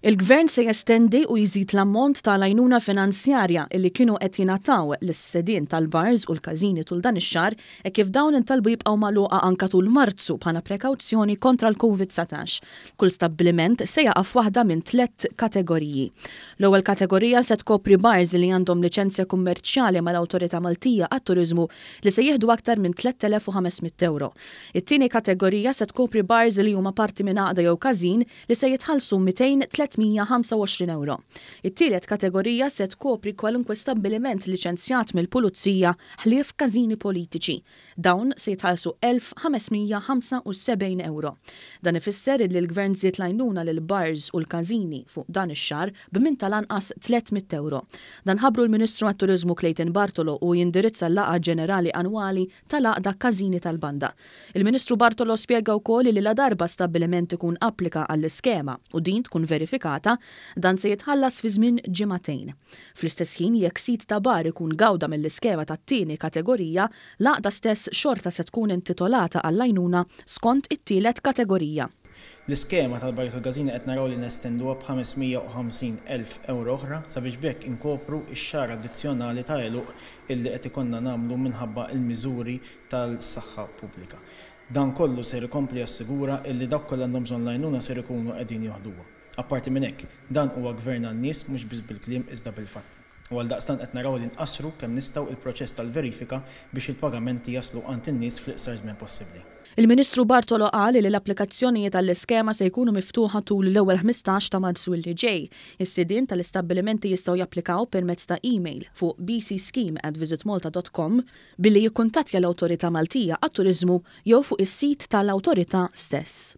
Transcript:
Il-Gvern se jestendi u jżid l-ammont ta' l-għajnuna finanzjarja illi kienu qed jingħataw lis-sedien tal-bars u l-każini tul dan ix-xahar hekk kif dawn intalbu jibqgħu magħluqa anka tul Marzu bħala prekawzjoni kontra l-Covid 19. Kull stabbiliment se jaqa' f'waħda minn tlett kategoriji. L-ewwel kategorija se tkopri bars li għandhom liċenzja kummerċjali mal-Awtorità Maltija għat-Turiżmu li se jieħdu aktar minn 3,500 ewro. It-tieni kategorija se tkopri bars li huma parti minn għaqda jew każin li se jitħallsu 200, 325 ewro. It-tielet kategorija se tkopri kwalunkwe stabbiliment liċenzjat mill-Pulizija ħlief każini politiċi. Dawn se jitħallsu 1,575 ewro. Dan ifisser illi l-Gvern żied l-għajnuna lill-bars u l-każini fuq dan ix-xahar b'minn tal-anqas 300 ewro. Dan ħabbru l-Ministru għat-Turiżmu Clayton Bartolo u jindirizza l-laqgħa ġenerali annwali tal-Għaqda Każini tal-Banda. Il-Ministru Bartolo spjega wkoll li ladarba stabbiliment ikun applika għall-iskema u din tkun verifikata, dan se jitħallas fi żmien ġimagħtejn. Fl-istess ħin jekk sid ta' bar ikun gawda mill-iskema tat-tieni kategorija, l-għaqda stess xorta se tkun intitolata għall-għajnuna skont it-tielet kategorija. L-iskema tal-Barijiet u l-Każini qed naraw li nestenduha b'550 elf ewro oħra sabiex b'hekk inkopru x-xahar addizzjonali ta' għeluq illi qed ikollna nagħmlu minħabba l-miżuri tal-saħħa pubblika. Dan kollu ser ikompli jassigura illi dawk kollha għandhom bżonn l-għajnuna ser ikunu qegħdin joħduha. Apparti minn hekk, dan huwa gvern għan-nies mhux biss bil-kliem iżda bil-fatti. U għaldaqstant qed naraw li nqassru kemm nistgħu il-proċess tal-verifika biex il-pagamenti jaslu għand in-nies fl-iqsar żmien possibbli. Il-Ministru Bartolo qal li l-applikazzjonijiet għall-iskema se jkunu miftuħa tul l-ewwel 15 ta' Marzu li ġej. Is-sidien tal-istabbilimenti jistgħu japplikaw permezz ta' email fuq bcscheme@visitmalta.com billi jikkuntattja l-Awtorità Maltija għat-Turiżmu jew fuq is-sit tal-Awtorità stess.